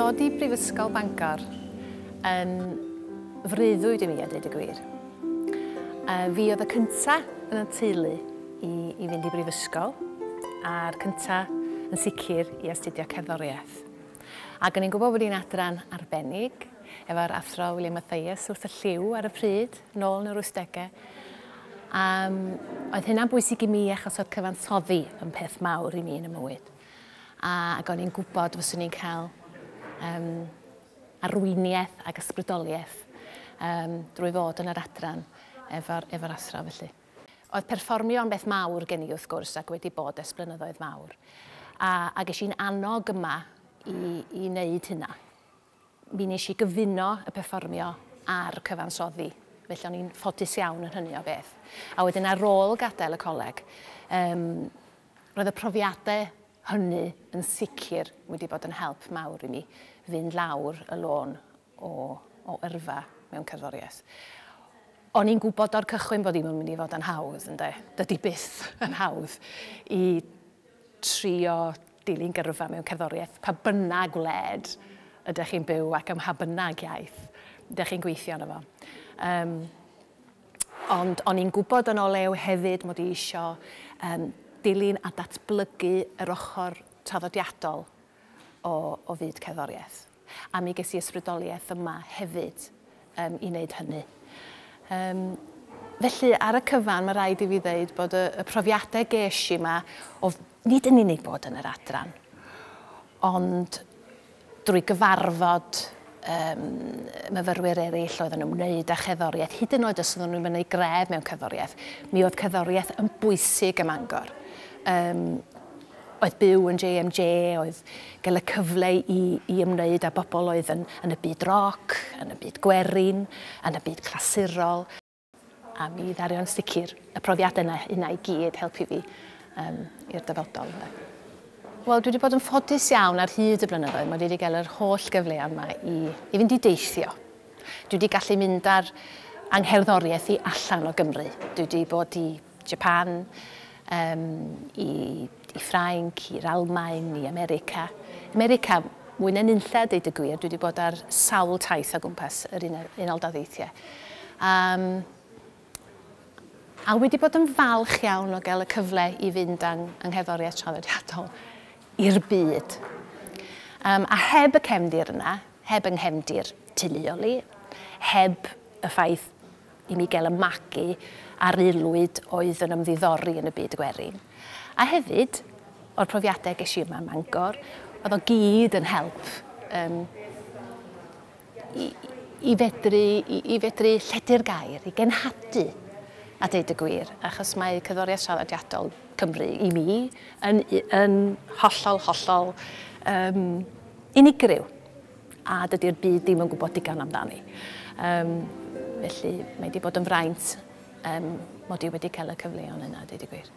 dod i Brifysgol Bangor yn freuddwyd i mi, a dweud y gwir. Fi oedd y cynta yn y teulu i fynd i brifysgol, a'r cynta yn sicr i astudio cerddoriaeth. Ac o'n i'n gwybod bod hi'n adran arbennig, efo'r athro William Mathias wrth y lliw ar y pryd, nôl yn yr 80au. Oedd hynna'n bwysig i mi achos oedd cyfansoddi yn peth mawr i mi yn y mywyd. Ac o'n i'n gwybod fyswn i'n cael arweiniaeth ac ysbrydoliaeth drwy fod yn yr adran efo'r athro felly. Oedd perfformio yn beth mawr gen i wrth gwrs ac wedi bod ers blynyddoedd mawr. A ges i'n annog yma i wneud hynna. Mi nes i gyfuno y perfformio a'r cyfansoddi. Felly o'n i'n ffodus iawn yn hynny o beth. A wedyn ar ôl gadael y coleg, roedd y profiadau hynny yn sicr wedi bod yn help mawr i mi fynd lawr y lôn o yrfa mewn cerddoriaeth. O'n i'n gwybod o'r cychwyn bod ddim yn mynd i fod yn hawdd, ynde? Dydy byth yn hawdd i trio dilyn gyrfa mewn cerddoriaeth, pa bynnag wled ydych chi'n byw ac ym mha bynnag iaith ydych chi'n gweithio arno fo. Ond o'n i'n gwybod yn o lew hefyd mod i isio dilyn a datblygu yr ochr traddodiadol o fyd cerddoriaeth. A mi ges i ysbrydoliaeth yma hefyd i wneud hynny. Felly ar y cyfan mae rhaid i fi ddeud bod y profiadau ges i yma o nid yn unig bod yn yr adran, ond drwy gyfarfod myfyrwyr eraill oedd yn ymwneud â cherddoriaeth, hyd yn oed os oedden nhw'n mynd gref mewn cerddoriaeth, mi oedd cerddoriaeth yn bwysig ym Mangor. Oedd byw yn JMJ, oedd gael y cyfle i ymwneud â bobl oedd yn y byd roc, yn y byd gwerin, yn y byd clasurol. A mi ddario'n sicr y profiadau yna i gyd helpu fi i'r dyfodol. Wel, dwi wedi bod yn ffodus iawn ar hyd y blynyddoedd. Mae wedi cael yr holl gyfle yma i fynd i deithio. Dwi wedi gallu mynd ar angherddoriaeth i allan o Gymru. Dwi wedi bod i Japan, i Ffrainc, i'r Almaen, i America. America, mwy na nunlla, deud y gwir, dwi wedi bod ar sawl taith o gwmpas yr Unol Daleithiau. A wedi bod yn falch iawn o gael y cyfle i fynd angherddoriaeth traddodiadol i'r byd. A heb y cefndir yna, heb yng nghefndir teuluol i, heb y ffaith i mi gael y magu ar aelwyd oedd yn ymddiddori yn y byd gwerin. A hefyd, o'r profiadau ges i yma ym Mangor, oedd o gyd yn help i fedru lledu'r gair, i genhadu, a deud y gwir, achos mae cerddoriaeth traddodiadol Cymru i mi yn hollol, hollol unigryw. A dydy'r byd ddim yn gwybod digon amdani. Felly mae wedi bod yn fraint mod i wedi cael y cyfleon yna, deud y gwir.